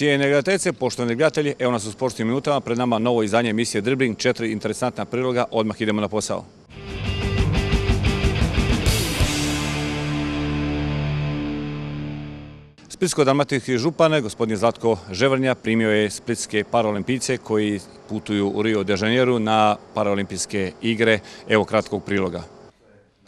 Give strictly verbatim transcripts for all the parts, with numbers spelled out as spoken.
Cijene gledateljice, poštovani gledatelji, evo nas u sportskim minutama, pred nama novo izdanje emisije Dribbling, četiri interesantna priloga, odmah idemo na posao. Splitsko-dalmatinski župan, gospodin Zlatko Ževrnja, primio je splitske paraolimpijce koji putuju u Rio de Janeiro na paraolimpijske igre. Evo kratkog priloga.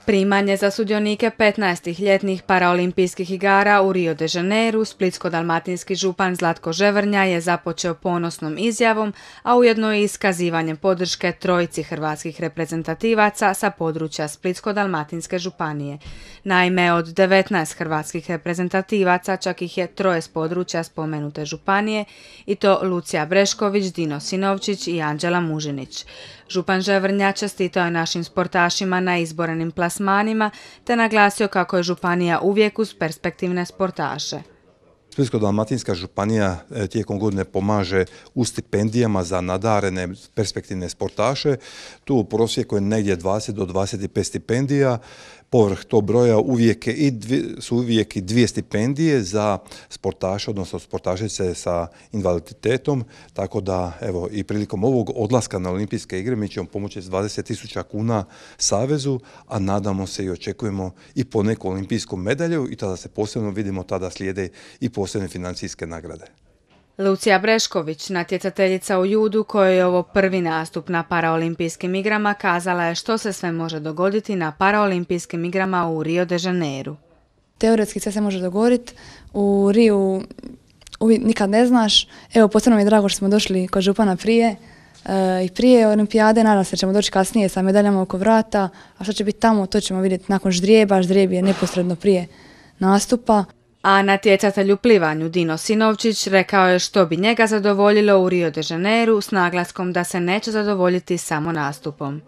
Primanje za sudionike petnaestih ljetnih paraolimpijskih igara u Rio de Janeiro splitsko-dalmatinski župan Zlatko Ževrnja je započeo ponosnom izjavom, a ujedno i iskazivanjem podrške trojici hrvatskih reprezentativaca sa područja Splitsko-dalmatinske županije. Naime, od devetnaest hrvatskih reprezentativaca čak ih je troje s područja spomenute županije, i to Lucija Brešković, Dino Sinovčić i Anđela Mužinić. Župan Ževrnja čestitao je našim sportašima na izborenim plasmanima te naglasio kako je županija uvijek uz perspektivne sportaše. Splitsko-dalmatinska županija tijekom godine pomaže u stipendijama za nadarene perspektivne sportaše. Tu u prosjeku je negdje dvadeset do dvadeset pet stipendija. Povrh tog broja uvijek i dvije, su uvijek i dvije stipendije za sportaše, odnosno sportašice sa invaliditetom, tako da evo i prilikom ovog odlaska na olimpijske igre mi ćemo pomoći s dvadeset tisuća kuna savezu, a nadamo se i očekujemo i po neku olimpijsku medalju i tada se posebno vidimo, tada slijede i posebne financijske nagrade. Lucija Brešković, natjecateljica u judu kojoj je ovo prvi nastup na paraolimpijskim igrama, kazala je što se sve može dogoditi na paraolimpijskim igrama u Rio de Janeiro. Teoretski sve se može dogoditi, u Riju nikad ne znaš. Evo, posebno mi je drago što smo došli kod župana prije e, i prije olimpijade, nadam se da ćemo doći kasnije sa medaljama oko vrata, a što će biti tamo to ćemo vidjeti nakon ždrijeba, ždrijeb je neposredno prije nastupa. A natjecatelj u plivanju Dino Sinovčić rekao je što bi njega zadovoljilo u Rio de Janeiro s naglaskom da se neće zadovoljiti samo nastupom.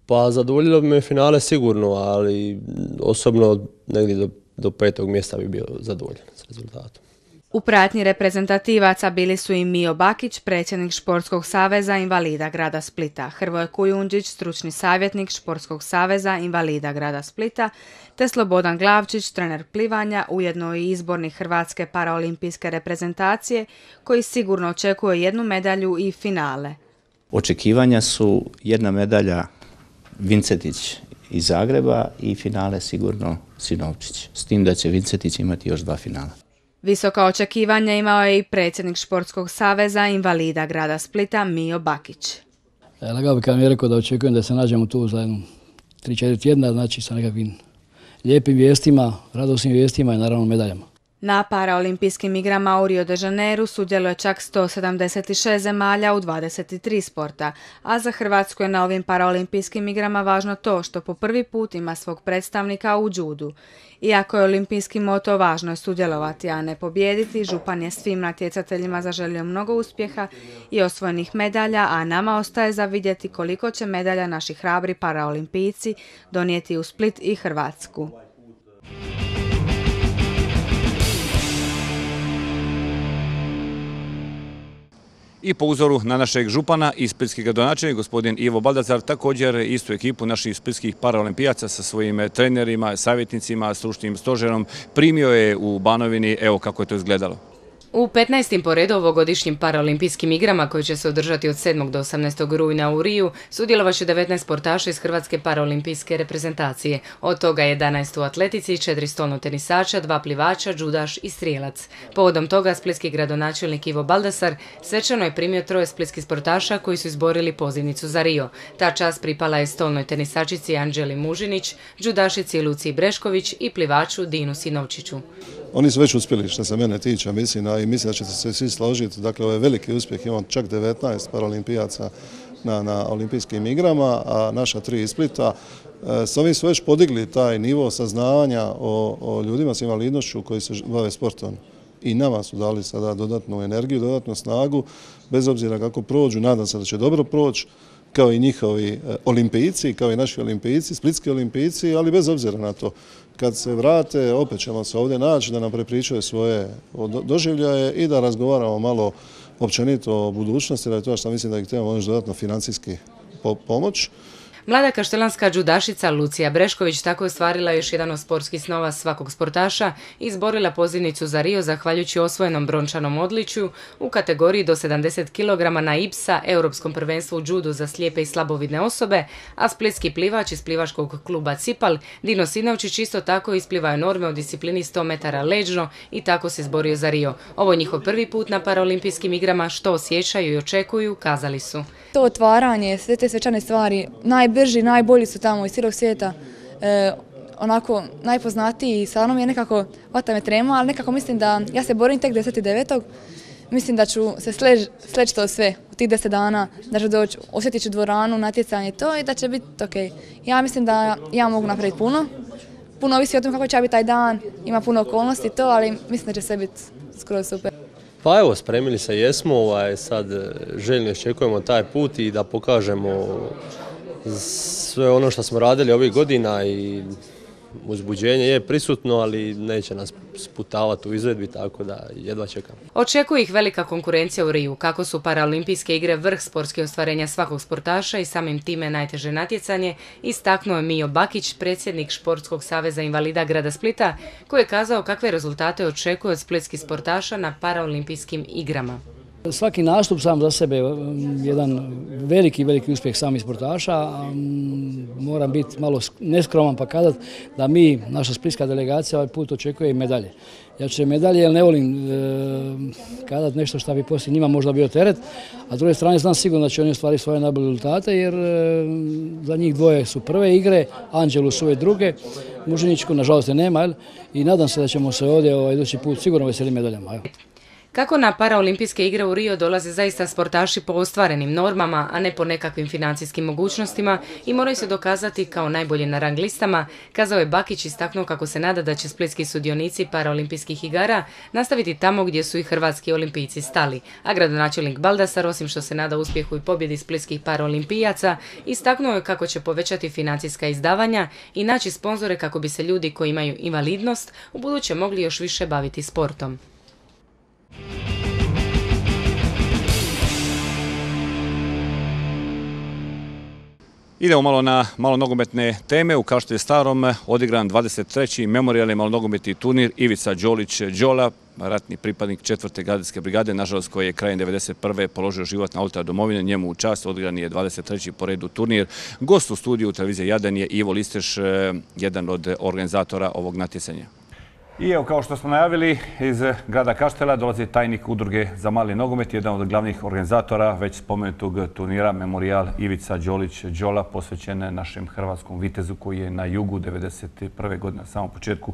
Pa zadovoljilo bi me finale sigurno, ali osobno negdje do, do petog mjesta bi bio zadovoljan s rezultatom. U pratnji reprezentativaca bili su i Mijo Bakić, predsjednik Športskog saveza invalida grada Splita, Hrvoje Kujundžić, stručni savjetnik Športskog saveza invalida grada Splita, te Slobodan Glavčić, trener plivanja, ujedno i izbornik Hrvatske paraolimpijske reprezentacije, koji sigurno očekuje jednu medalju i finale. Očekivanja su jedna medalja Vincetić iz Zagreba i finale sigurno Sinovčić, s tim da će Vincetić imati još dva finala. Visoka očekivanja imao je i predsjednik Športskog saveza invalida grada Splita Mijo Bakić. Lagao bi kad mi je rekao da očekujem da se nađemo tu za jedno tri četiri tjedna, znači sa nekakvim lijepim vijestima, radosnim vijestima i naravno medaljama. Na paraolimpijskim igrama u Rio de Janeiro sudjeluje čak sto sedamdeset šest zemalja u dvadeset tri sporta, a za Hrvatsku je na ovim paraolimpijskim igrama važno to što po prvi put ima svog predstavnika u judu. Iako je olimpijski moto važno je sudjelovati, a ne pobijediti, župan je svim natjecateljima zaželio mnogo uspjeha i osvojenih medalja, a nama ostaje za vidjeti koliko će medalja naši hrabri paraolimpijci donijeti u Split i Hrvatsku. I po uzoru na našeg župana i splitski gradonačelnik, gospodin Ivo Baldazar, također istu ekipu naših splitskih paraolimpijaca sa svojim trenerima, savjetnicima, stručnim stožerom primio je u Banovini. Evo kako je to izgledalo. U petnaestim po redu ovogodišnjim paraolimpijskim igrama koji će se održati od sedmog do osamnaestog rujna u Riju sudjelovat će devetnaest sportaša iz Hrvatske paraolimpijske reprezentacije. Od toga jedanaest u atletici, četiri stolno tenisača, dva plivača, džudaš i strijelac. Povodom toga splitski gradonačelnik Ivo Baldasar svečano je primio troje splitskih sportaša koji su izborili pozivnicu za Rio. Ta čast pripala je stolnoj tenisačici Anđeli Mužinić, džudašici Luciji Brešković i plivaču Dinu Sinovčiću. Oni su već uspjeli što se mene tiče, mislim, a i mislim da ćete se svi složiti. Dakle, ovo je veliki uspjeh, imamo čak devetnaest paraolimpijaca na, na olimpijskim igrama, a naša tri iz Splita. E, s ovim su već podigli taj nivo saznavanja o, o ljudima s invalidnošću koji se bave sportom. I nama su dali sada dodatnu energiju, dodatnu snagu, bez obzira kako prođu, nadam se da će dobro proći, kao i njihovi olimpijci, kao i naši olimpijci, splitski olimpijci, ali bez obzira na to. Kad se vrate, opet ćemo se ovdje naći da nam prepričaju svoje doživljaje i da razgovaramo malo općenito o budućnosti, da je to što mislim da ih trebamo još dodatno financijski pomoć. Mlada kaštelanska džudašica Lucija Brešković tako je ostvarila još jedan od sportskih snova svakog sportaša i izborila pozivnicu za Rio zahvaljujući osvojenom brončanom odličju u kategoriji do sedamdeset kilograma na I P S A Europskom prvenstvu u džudu za slijepe i slabovidne osobe, a splitski plivač iz plivačkog kluba Cipal, Dino Sinovčić, isto tako isplivao norme u disciplini sto metara leđno i tako se izborio za Rio. Ovo je njihov prvi put na paraolimpijskim igrama, što osjećaju i očekuju, kazali su. To otvaranje, sve te svečane stvari, najbrži, najbolji su tamo iz cijelog svijeta, e, onako najpoznatiji, stvarno mi je nekako, vata me trema, ali nekako mislim da ja se borim tek deset devetog Mislim da ću se sleći sleč to sve u tih deset dana, da ću doći, osjetit ću dvoranu, natjecanje to i da će biti ok. Ja mislim da ja mogu napraviti puno, puno ovisi o tom kako će biti taj dan, ima puno okolnosti i to, ali mislim da će sve biti skroz super. Pa evo, spremili se jesmo, ovaj, sad željno iščekujemo taj put i da pokažemo sve ono što smo radili ovih godina i uzbuđenje je prisutno, ali neće nas sputavati u izvedbi, tako da jedva čekam. Očekuje ih velika konkurencija u Riju. Kako su paraolimpijske igre vrh sportskih ostvarenja svakog sportaša i samim time najteže natjecanje, istaknuo je Mijo Bakić, predsjednik Športskog saveza invalida grada Splita, koji je kazao kakve rezultate očekuje od splitskih sportaša na paraolimpijskim igrama. Svaki nastup sam za sebe je jedan veliki, veliki uspjeh samih sportaša. Moram biti malo neskroman pa kazati da mi, naša splitska delegacija, ovaj put očekuje i medalje. Ja ću medalje jer ne volim e, kazati nešto što bi poslije njima možda bio teret, a s druge strane znam sigurno da će oni ostvariti svoje najbolje rezultate jer e, za njih dvoje su prve igre, Anđelu su ove druge, Mužiničku nažalost je nema, jel? I nadam se da ćemo se ovdje ovaj, idući put sigurno veseliti medaljama. Evo. Kako na paraolimpijske igre u Rio dolaze zaista sportaši po ostvarenim normama, a ne po nekakvim financijskim mogućnostima i moraju se dokazati kao najbolji na rang listama, kazao je Bakić, istaknuo kako se nada da će splitski sudionici paraolimpijskih igara nastaviti tamo gdje su i hrvatski olimpijci stali. A gradonačelnik Baldasar, osim što se nada uspjehu i pobjedi splitskih paraolimpijaca, istaknuo je kako će povećati financijska izdavanja i naći sponzore kako bi se ljudi koji imaju invalidnost ubuduće mogli još više baviti sportom. Idemo malo na malo nogometne teme. U Kaštelju Starom odigran dvadeset treći memorijalni malonogometni turnir Ivica Đolić Đola, ratni pripadnik četvrte gardijske brigade, nažalost koji je krajem devedeset prve položio život na oltar domovine. Njemu u čast odigran je dvadeset treći po redu turnir. Gost u studiju televizije Jadan je Ivo Listeš, jedan od organizatora ovog natjecanja. I evo, kao što smo najavili, iz grada Kaštela dolazi tajnik udruge za mali nogomet, jedan od glavnih organizatora već spomenutog turnira Memorijal Ivica Đolić Đola, posvećen našem hrvatskom vitezu koji je na jugu devedeset prve godine na samom početku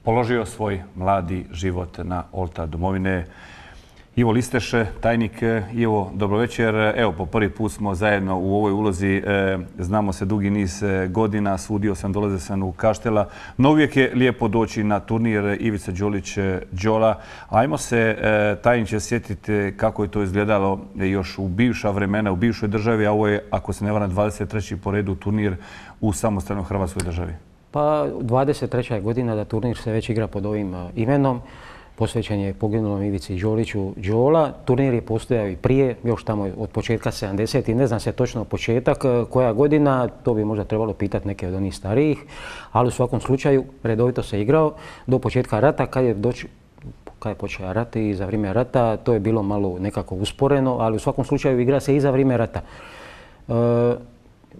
položio svoj mladi život na oltar domovine. Ivo Listeš, tajnik. Ivo, dobro večer. Evo, po prvi put smo zajedno u ovoj ulozi. Znamo se dugi niz godina, sudio sam, dolazio sam u Kaštela. No uvijek je lijepo doći na turnir Ivica Đolić Đola. Ajmo se, tajniče, sjetiti kako je to izgledalo još u bivša vremena, u bivšoj državi, a ovo je, ako se ne varam, dvadeset treći po redu turnir u samostalnoj Hrvatskoj državi. Pa dvadeset treća je godina da turnir se već igra pod ovim imenom. Posvećen je poginulom Ivici Đoliću Đola. Turnir je postojao i prije, još tamo od početka sedamdesetih. Ne znam se točno početak, koja godina, to bi možda trebalo pitati neke od onih starijih, ali u svakom slučaju redovito se igrao do početka rata. Kad je, doć, kad je počeo rat i za vrijeme rata, to je bilo malo nekako usporeno, ali u svakom slučaju igra se i za vrijeme rata. E,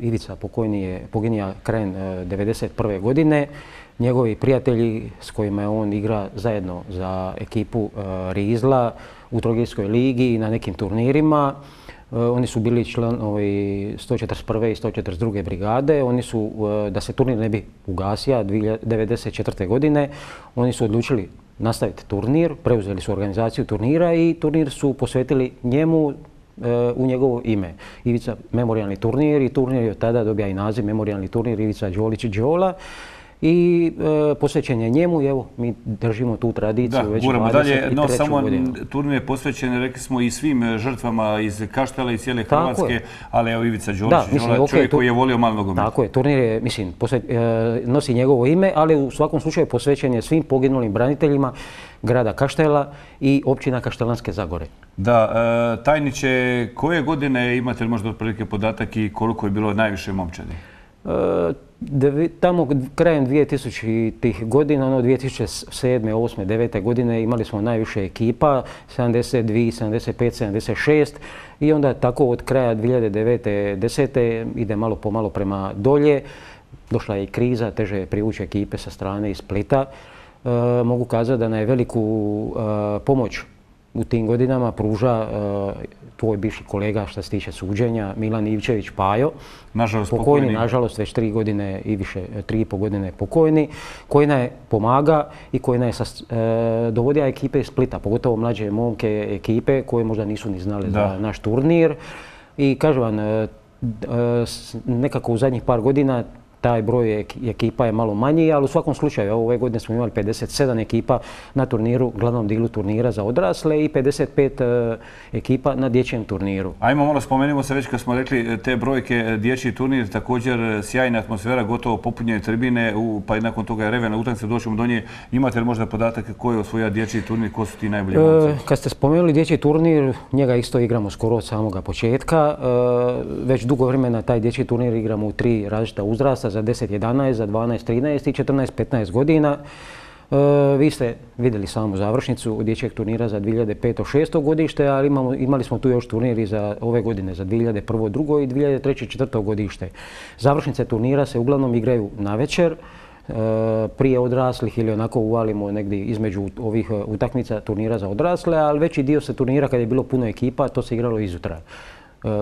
Ivica pokojni je poginija krajem devedeset prve godine. Njegovi prijatelji s kojima je on igra zajedno za ekipu Rizla u Trogirskoj ligi i na nekim turnirima. Oni su bili članovi sto četrdeset prve i sto četrdeset druge brigade. Oni su, da se turnir ne bi ugasio devedeset četvrte godine, oni su odlučili nastaviti turnir, preuzeli su organizaciju turnira i turnir su posvetili njemu u njegovo ime. Ivica memorijalni turnir i turnir je od tada dobija i naziv memorijalni turnir Ivica Đolić Đola. i e, posvećen je njemu i evo mi držimo tu tradiciju da, već guramo dalje, no samo godinu. Turnir je posvećen, rekli smo, i svim žrtvama iz Kaštela i cijele Tako Hrvatske, je. ali evo Ivica Đolić, Da, mislim, Đola, okay, čovjek tu, koji je volio malo nogomet. Tako je, turnir je, mislim, posve, e, nosi njegovo ime, ali u svakom slučaju posvećen je svim poginulim braniteljima grada Kaštela i općina Kaštelanske Zagore. Da, e, tajniče, koje godine imate možda otprilike podatak i koliko je bilo najviše momčadi? E, devi, tamo krajem dvije tisućitih godina, ono dvije tisuće sedme, osme, devete godine imali smo najviše ekipa, sedamdeset dvije, sedamdeset pet, sedamdeset šest i onda tako od kraja dvije hiljade devete, desete ide malo po malo prema dolje. Došla je i kriza, teže je privući ekipe sa strane iz Splita. E, mogu kazati da nam je veliku e, pomoć u tim godinama pruža e, tvoj bivši kolega što se tiče suđenja, Milan Ivčević Pajo. Nažalost pokojni. pokojni. Nažalost već tri godine i više, tri i po godine pokojni, koji nam je pomaga i koji nam je e, dovodio ekipe iz Splita, pogotovo mlađe momke ekipe koje možda nisu ni znali da. za naš turnir. I kažem vam, e, e, nekako u zadnjih par godina taj broj ekipa je malo manji, ali u svakom slučaju ove godine smo imali pedeset sedam ekipa na turniru, glavnom dilu turnira za odrasle i pedeset pet ekipa na dječjem turniru. Ajmo malo spomenimo se već kad smo rekli te brojke, dječji turnir, također sjajna atmosfera, gotovo popunjene tribine, pa i nakon toga je revena utakmica, doćemo do nje. Imate li možda podatak ko je osvojio dječji turnir, ko su ti najbolji momci? E, kad ste spomenuli dječji turnir, njega isto igramo skoro od samoga početka. E, već dugo vremena taj dječji turnir igramo u tri različita uzrasta, za deset jedanaest, za dvanaest trinaest i četrnaest petnaest godina. E, vi ste vidjeli samu završnicu dječjeg turnira za dvije hiljade peto šesto godište, ali imamo, imali smo tu još turniri za ove godine, za dvije hiljade prvo drugo i dvije hiljade treće četvrto godište. Završnice turnira se uglavnom igraju na večer, e, prije odraslih ili onako uvalimo negdje između ovih utakmica turnira za odrasle, ali veći dio se turnira kad je bilo puno ekipa, to se igralo izutra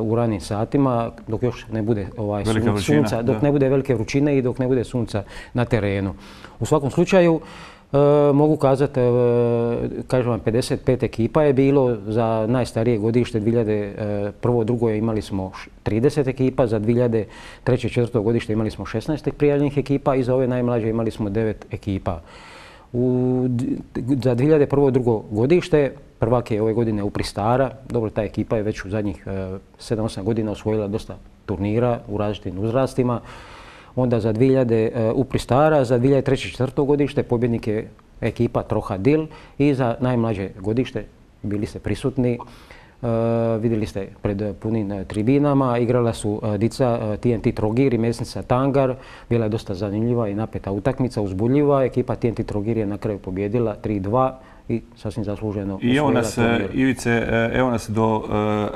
u ranim satima, dok još ne bude ovaj, sun, sunca, dok da. ne bude velike vrućine i dok ne bude sunca na terenu. U svakom slučaju, e, mogu kazati, e, kažem vam, pedeset pet ekipa je bilo, za najstarije godište dvije hiljade prvo drugo imali smo trideset ekipa, za dvije hiljade treće četvrto godište imali smo šesnaest prijavljenih ekipa i za ove najmlađe imali smo devet ekipa. U, za dvije hiljade prvo drugo godište prvak je ove godine u Pristara. Dobro, ta ekipa je već u zadnjih sedam osam godina osvojila dosta turnira u različitim uzrastima. Onda za dvije hiljade u Pristara, za dvije hiljade treće četvrto godište pobjednik je ekipa Troha Dil i za najmlađe godište bili ste prisutni. Uh, vidjeli ste pred punim tribinama, igrala su uh, dica uh, T N T Trogir i Mesnica Tangar. Bila je dosta zanimljiva i napeta utakmica, uzbudljiva. Ekipa T N T Trogir je na kraju pobjedila tri dva i sasvim zasluženo I evo nas, turnir. Ivice, evo nas do uh,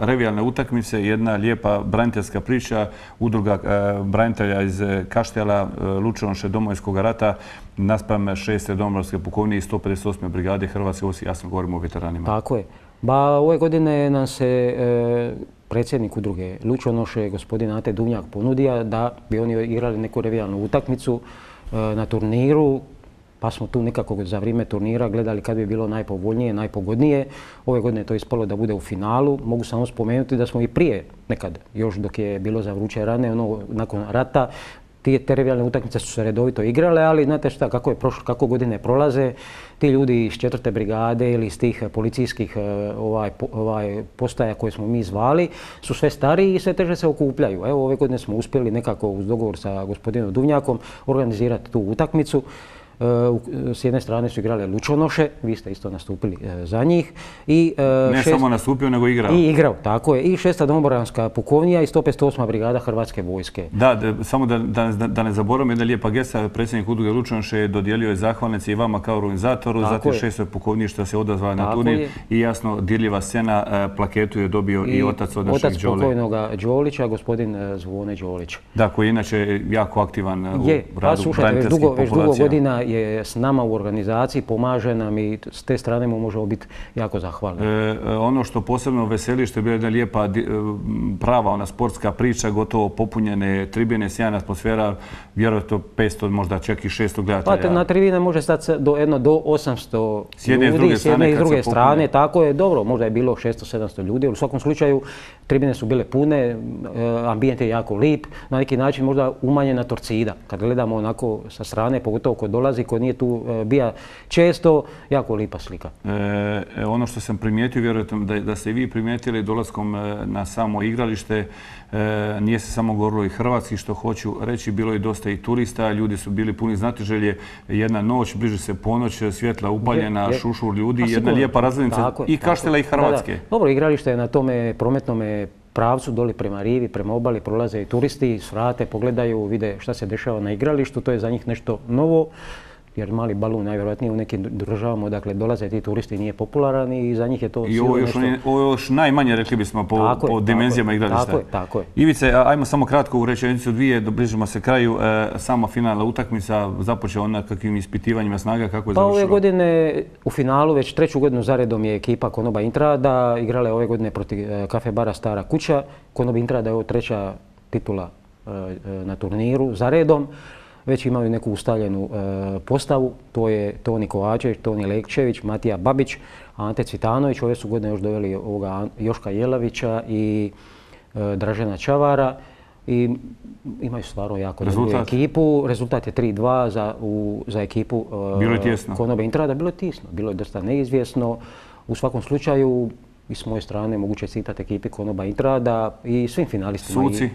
revijalne utakmice, jedna lijepa braniteljska priča, udruga uh, branitelja iz Kaštela, uh, Lučanoše Domovinskog rata, naspram šeste Domobranske pukovnije i sto pedeset osme brigade Hrvatske vojske, jasno govorimo o veteranima. Tako je. Ba, ove godine nam se e, predsjednik udruge Lučanoše, gospodin Ante Duvnjak, ponudio da bi oni igrali neku revijalnu utakmicu e, na turniru, pa smo tu nekako za vrijeme turnira gledali kad bi bilo najpovoljnije, najpogodnije. Ove godine je to ispalo da bude u finalu. Mogu samo spomenuti da smo i prije, nekad, još dok je bilo za vruće rane, ono, nakon rata, te revijalne utakmice su se redovito igrale, ali znate šta, kako, je prošlo, kako godine prolaze, ti ljudi iz četvrte brigade ili iz tih policijskih ovaj, ovaj, postaja koje smo mi zvali su sve stariji i sve teže se okupljaju. Evo, ove godine smo uspjeli nekako uz dogovor sa gospodinom Duvnjakom organizirati tu utakmicu. S jedne strane su igrale Lučanoše, vi ste isto nastupili za njih. I, ne šest... samo nastupio, nego igrao. I igrao, tako je. I šesta Domobranska pukovnija i sto pedeset osma brigada Hrvatske vojske. Da, da samo da, da, da ne zaboravim, jedna lijepa gesta, predsjednik udruge Lučanoše dodijelio je zahvalnice i vama kao organizatoru, tako zatim šestoj pukovniji što se odazvala na turnir je. I jasno dirljiva scena, plaketu je dobio i, i otac od našeg Đole. Otac pokojnoga Đolića, gospodin Zvone Đolić. Da, koji je inače jako aktivan je, u radu braniteljskih populacija. Već dugo godina je s nama u organizaciji, pomaže nam i s te strane mu možemo biti jako zahvalni. E, ono što posebno veseli, što je bila jedna lijepa, prava ona sportska priča, gotovo popunjene tribine, sjajna atmosfera, vjerojatno petsto, možda čak i šesto gledatelja. Pa na tribine može stati do, jedno, do osamsto s jedne ljudi, s druge s jedne strane, i s druge strane, tako je, dobro, možda je bilo šesto sedamsto ljudi, ali u svakom slučaju tribine su bile pune, ambijent je jako lip, na neki način možda umanjena torcida. Kad gledamo onako sa strane, pogotovo ko dolazi, ko nije tu bija često, jako lipa slika. E, ono što sam primijetio, vjerojatno da, da ste i vi primijetili dolaskom na samo igralište, e, nije se samo govorilo i hrvatski, što hoću reći, bilo je dosta i turista, ljudi su bili puni znatiželje, jedna noć, bliže se ponoć, svjetla upaljena, je, je. šušur ljudi, jedna sigurno, lijepa razglednica i Kaštela i Hrvatske. Da, da. Dobro, igralište je na tome prometnome pravcu, doli prema rivi, prema obali, prolaze i turisti, svrate, pogledaju, vide šta se dešava na igralištu, to je za njih nešto novo, jer mali balun najvjerojatnije u nekim državama, dakle dolaze ti turisti, nije popularan i za njih je to i ovo još, nešto... ovo još najmanje, rekli bismo, po, tako po je, dimenzijama tako igrališta. Tako je, tako je. Ivice, ajmo samo kratko u rečenicu dvije, bližimo se kraju. E, sama finalna utakmica započela ona kakvim ispitivanjima snaga, kako je pa završilo? Ove godine u finalu već treću godinu zaredom je ekipa Konoba Intrada, igrala je ove godine protiv Kafe bara Stara kuća. Konoba Intrada je ovo treća titula e, na turniru zaredom. Već imaju neku ustaljenu e, postavu, to je Toni Kovačević, Toni Lekčević, Matija Babić, Ante Cvitanović, ove su godine još doveli ovoga Joška Jelavića i e, Dražena Čavara i imaju stvarno jako dobru ekipu. Rezultat je tri dva za, u, za ekipu e, Konobe Intrada. Bilo je tisno, bilo je dosta neizvjesno. U svakom slučaju, i s moje strane mogu čestitati ekipi Konoba Intrada i svim finalistima. Suci?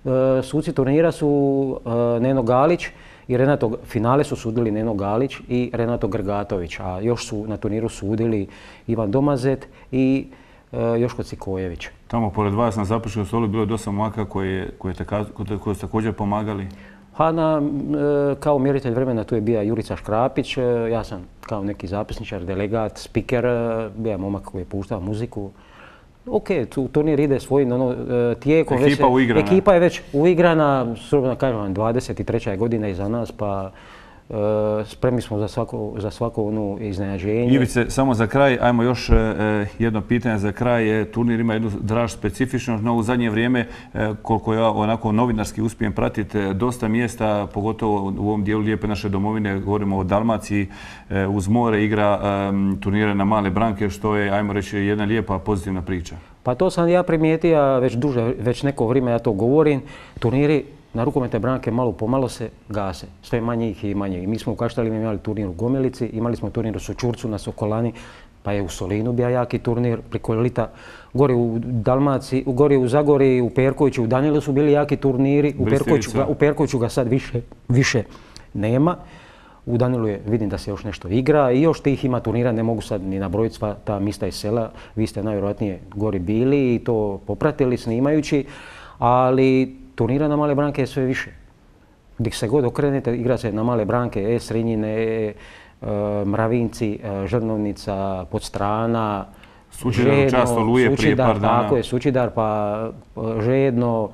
E, suci turnira su e, Neno Galić i Renato, finale su sudili Neno Galić i Renato Grgatović, a još su na turniru sudili Ivan Domazet i e, Joško Cikojević. Tamo pored vas na zapuškom stolu bilo je dosta momaka koji, koji, koji su također pomagali? Pa na, e, kao mjeritelj vremena tu je bio Jurica Škrapić, e, ja sam kao neki zapisničar, delegat, spiker, e, bio je momak koji je puštao muziku. Ok, tu turnir ide svojim ono, tijekom. Ekipa već, uigrana. Ekipa je već uigrana, slobodno kažem vam, dvadeset treća godina iza nas, pa e, spremni smo za svako, za svako ono iznenađenje. Ivice, samo za kraj, ajmo još e, jedno pitanje za kraj. Turnir ima jednu draž specifičnost, no u zadnje vrijeme, e, koliko ja onako novinarski uspijem pratiti, dosta mjesta, pogotovo u ovom dijelu lijepe naše domovine, govorimo o Dalmaciji, e, uz more igra e, turnire na male branke, što je, ajmo reći, jedna lijepa pozitivna priča. Pa to sam ja primijetio već duže, već neko vrijeme ja to govorim. Turniri na rukometne branke malo pomalo se gase, sve manje ih i manje. I mi smo u Kaštelima imali turnir u Gomelici, imali smo turnir u Sočurcu na Sokolani, pa je u Solinu bio jaki turnir, preko lita. Gori u Dalmaciji, gori u Zagori, u Perkoviću, u Danilu su bili jaki turniri, u Perkoviću, ga, u Perkoviću ga sad više, više nema. U Danilu je, vidim da se još nešto igra i još tih ima turnira, ne mogu sad ni nabrojiti sva ta mista iz sela. Vi ste najvjerojatnije gori bili i to popratili snimajući, ali turnira na male branke je sve više. Gdje se god okrenete, igra se na male branke, E Srinjine, E, Mravinci, e, Žrnovnica, Podstrana, Sučidar, čast Oluje prije par dana. Tako je, Sučidar, pa Žedno,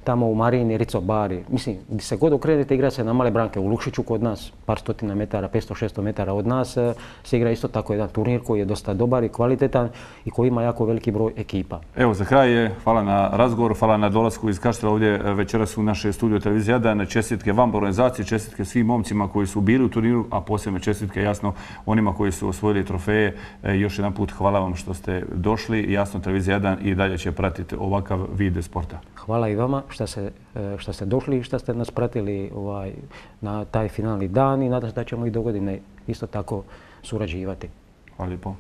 tamo u Marini, Rico Bari. Mislim, gdje se god okrenete, igra se na male branke. U Lukšiću kod nas, par stotina metara, petsto šesto metara od nas, se igra isto tako jedan turnir koji je dosta dobar i kvalitetan i koji ima jako veliki broj ekipa. Evo, za kraj je, hvala na razgovoru, hvala na dolasku iz Kaštela ovdje večeras u naše studio televizije Jadran. Čestitke vam organizaciji, čestitke svim momcima koji su bili u turniru, a posebno čestitke jasno onima koji su osvojili trofeje. Još jedan put hvala vam što ste došli. Jasno, televizija Jadran i dalje će pratiti ovakav vid sporta. Hvala i vama što ste, što ste došli i što ste nas pratili ovaj, na taj finalni dan i nadam se da ćemo i do godine isto tako surađivati. Hvala lijepo.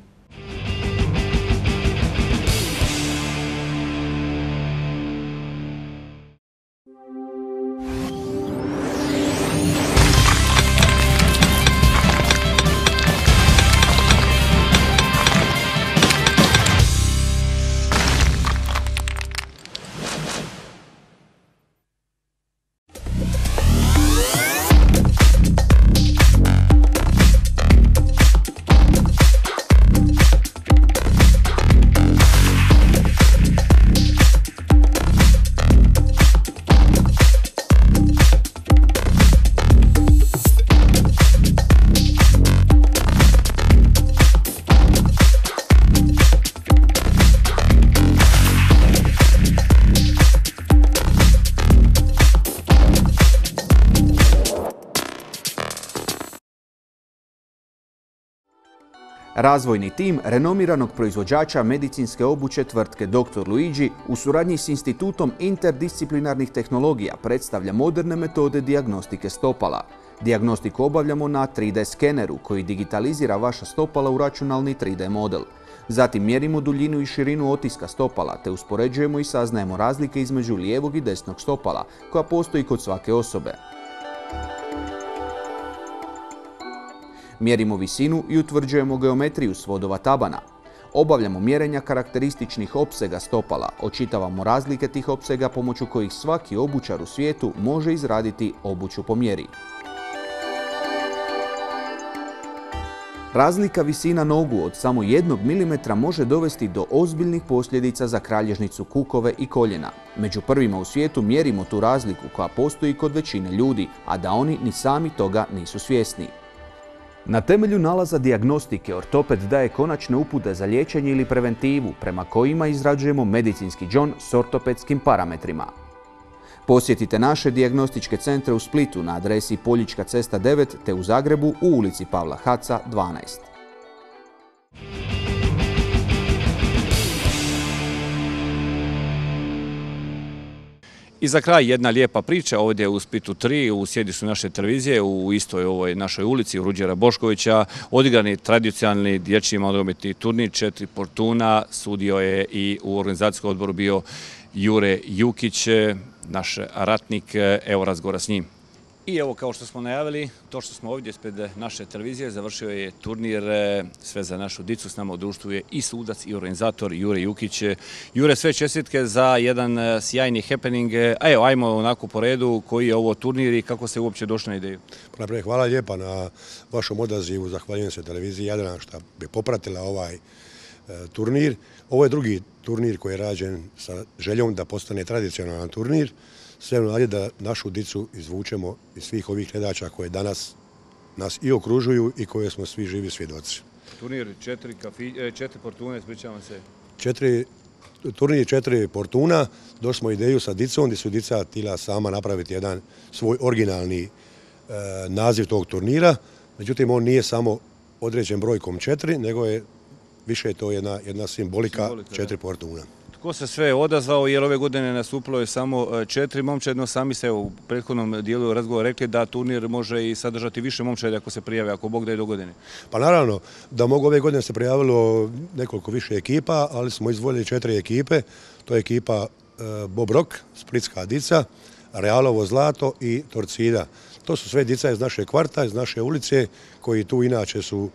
Razvojni tim renomiranog proizvođača medicinske obuće tvrtke doktor Luigi u suradnji s Institutom interdisciplinarnih tehnologija predstavlja moderne metode dijagnostike stopala. Dijagnostiku obavljamo na tri D skeneru koji digitalizira vaša stopala u računalni tri D model. Zatim mjerimo duljinu i širinu otiska stopala te uspoređujemo i saznajemo razlike između lijevog i desnog stopala koja postoji kod svake osobe. Mjerimo visinu i utvrđujemo geometriju svodova tabana. Obavljamo mjerenja karakterističnih opsega stopala, očitavamo razlike tih opsega pomoću kojih svaki obućar u svijetu može izraditi obuću po mjeri. Razlika visina nogu od samo jednog milimetra može dovesti do ozbiljnih posljedica za kralježnicu kukove i koljena. Među prvima u svijetu mjerimo tu razliku koja postoji kod većine ljudi, a da oni ni sami toga nisu svjesni. Na temelju nalaza dijagnostike ortoped daje konačne upute za liječenje ili preventivu prema kojima izrađujemo medicinski džon s ortopedskim parametrima. Posjetite naše dijagnostičke centre u Splitu na adresi Poljička cesta devet te u Zagrebu u ulici Pavla Haca dvanaest. I za kraj jedna lijepa priča ovdje u Splitu tri, u sjedištu naše televizije, u istoj ovoj našoj ulici, u Ruđera Boškovića, odigrani tradicionalni dječji nogometni turnir četiri Portuna, sudio je i u organizacijskom odboru bio Jure Jukić, naš ratnik, evo razgovora s njim. I evo, kao što smo najavili, to što smo ovdje ispred naše televizije, završio je turnir Sve za našu dicu. S nama u društvu je i sudac i organizator Jure Jukić. Jure, sve čestitke za jedan sjajni happening. A evo, ajmo onako po redu, koji je ovo turnir i kako se uopće došlo na ideju? Najprije hvala lijepa na vašom odazivu, zahvaljujem se televiziji Jadran što bi popratila ovaj turnir. Ovo je drugi turnir koji je rađen sa željom da postane tradicionalan turnir. Sve nadi da našu dicu izvučemo iz svih ovih gledača koje danas nas i okružuju i koje smo svi živi svjedoci. Turnir četiri, kafi, četiri Portune, ispričavam se. Četiri, turnir četiri Portuna, došli smo ideju sa dicom gdje su dica htjela sama napraviti jedan svoj originalni e, naziv tog turnira. Međutim, on nije samo određen brojkom četiri, nego je više to jedna, jedna simbolika, simbolika četiri da. Portuna. Tko se sve odazvao, jer ove godine nastupilo je samo četiri momčad, sami ste u prethodnom dijelu razgovora rekli da turnir može i sadržati više momčadi ako se prijave, ako Bog da je do godine. Pa naravno, da mogu ove godine se prijavilo nekoliko više ekipa, ali smo izvoljeli četiri ekipe. To je ekipa Bob Rock, Splitska dica, Realovo zlato i Torcida. To su sve dica iz naše kvarta, iz naše ulice, koji tu inače su,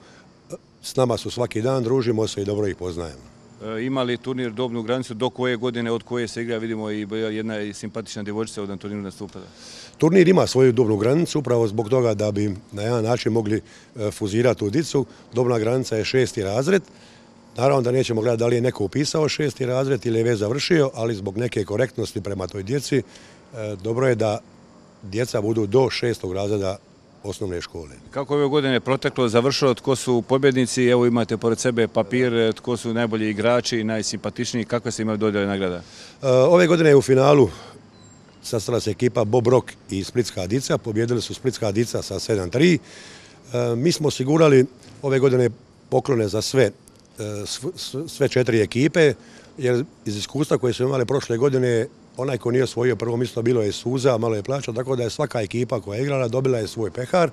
s nama su svaki dan, družimo se i dobro ih poznajemo. Ima li turnir dobnu granicu, do koje godine, od koje se igra, vidimo i jedna simpatična djevojčica od turniru nastupa? Turnir ima svoju dobnu granicu, upravo zbog toga da bi na jedan način mogli fuzirati u dicu. Dobna granica je šesti razred. Naravno da nećemo gledati da li je neko upisao šesti razred ili je već završio, ali zbog neke korektnosti prema toj djeci, dobro je da djeca budu do šestog razreda osnovne škole. Kako ove godine proteklo, završilo, tko su pobjednici, evo imate pored sebe papir, tko su najbolji igrači, najsimpatičniji, kakve se imaju dodjele nagrada? Ove godine je u finalu sastala se ekipa Bob Rock i Splitska dica, pobjedili su Splitska dica sa sedam tri. Mi smo osigurali ove godine poklone za sve, sve četiri ekipe, jer iz iskustva koje su imali prošle godine, onaj ko nije osvojio prvo mjesto bilo je suza, malo je plaća, tako da je svaka ekipa koja je igrala dobila je svoj pehar.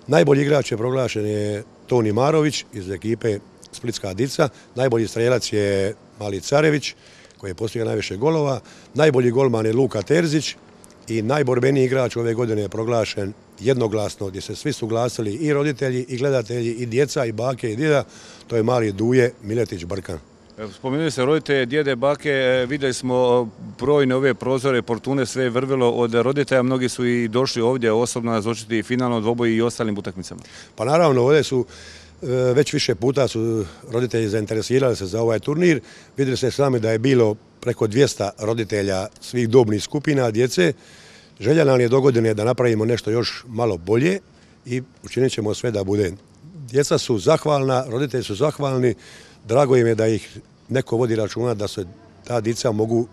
Najbolji igrač je proglašen je Toni Marović iz ekipe Splitska dica, najbolji strelac je Mali Carević koji je postigao najviše golova, najbolji golman je Luka Terzić i najborbeniji igrač ove godine je proglašen jednoglasno, gdje se svi suglasili i roditelji, i gledatelji, i djeca, i bake, i djeda, to je mali Duje Miletić Brkan. Spomenuli se roditelje, djede, bake, vidjeli smo brojne ove prozore, Portune, sve je vrvilo od roditelja, mnogi su i došli ovdje osobno nazočiti finalno dvoboj i ostalim utakmicama. Pa naravno, ovdje su već više puta su roditelji zainteresirali se za ovaj turnir. Vidjeli ste sami da je bilo preko dvjesto roditelja svih dobnih skupina djece. Želja nam je do godine da napravimo nešto još malo bolje i učinit ćemo sve da bude. Djeca su zahvalna, roditelji su zahvalni, drago im je da ih neko vodi računa da se ta djeca mogu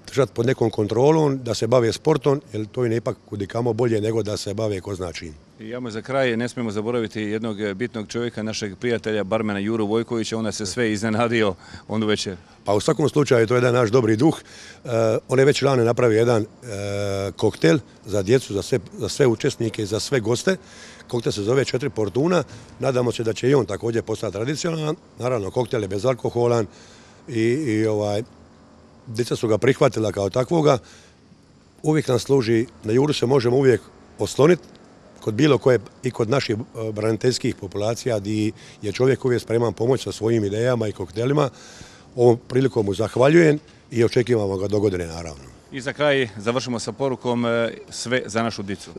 držati pod nekom kontrolom, da se bave sportom, jer to je ipak kudikamo bolje nego da se bave ko zna čim. I ja za kraj ne smijemo zaboraviti jednog bitnog čovjeka, našeg prijatelja, barmena Juru Vojkovića, onda se sve iznenadio onu večer. Pa u svakom slučaju to je jedan naš dobri duh. Uh, on je već lani napravio jedan uh, koktel za djecu, za sve, za sve učesnike i za sve goste. Koktel se zove Četiri Portuna. Nadamo se da će i on također postati tradicionalan. Naravno, koktel je bezalkoholan i, i ovaj, djeca su ga prihvatila kao takvoga. Uvijek nam služi, na Juru se možemo uvijek osloniti, kod bilo koje i kod naših braniteljskih populacija gdje je čovjek uvijek spreman pomoći sa svojim idejama i koktelima. Ovom prilikom mu zahvaljujem i očekivamo ga do godine, naravno. I za kraj završimo sa porukom sve za našu dicu.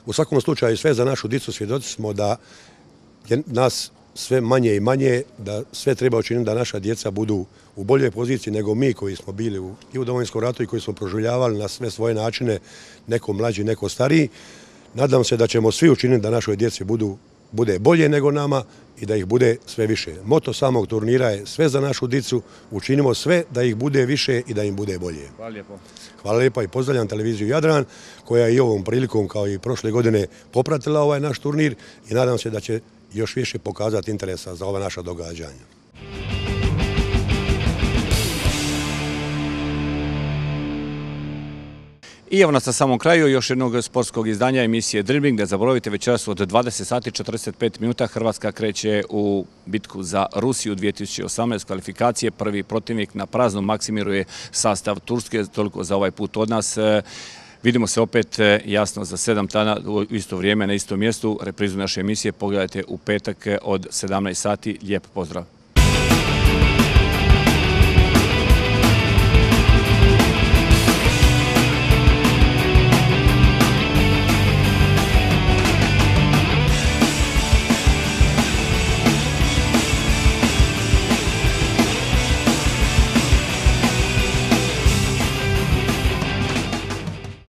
U svakom slučaju sve za našu dicu, svjedoci smo da je nas sve manje i manje, da sve treba učiniti da naša djeca budu u boljoj poziciji nego mi koji smo bili u, i u Domovinskom ratu i koji smo proživljavali na sve svoje načine, neko mlađi, neko stariji. Nadam se da ćemo svi učiniti da našoj djeci budu, bude bolje nego nama i da ih bude sve više. Moto samog turnira je sve za našu dicu, učinimo sve da ih bude više i da im bude bolje. Hvala lijepo. Hvala lijepa i pozdravljam televiziju Jadran koja je i ovom prilikom kao i prošle godine popratila ovaj naš turnir i nadam se da će još više pokazati interesa za ova naša događanja. I evo nas na samom kraju još jednog sportskog izdanja emisije Dribbling. Ne zaboravite, večeras od dvadeset sati i četrdeset pet minuta Hrvatska kreće u bitku za Rusiju dvije tisuće osamnaeste kvalifikacije. Prvi protivnik na praznom Maksimiru je sastav Turske, toliko za ovaj put od nas. Vidimo se opet jasno za sedam dana u isto vrijeme na istom mjestu. Reprizu naše emisije pogledajte u petak od sedamnaest sati. Lijep pozdrav!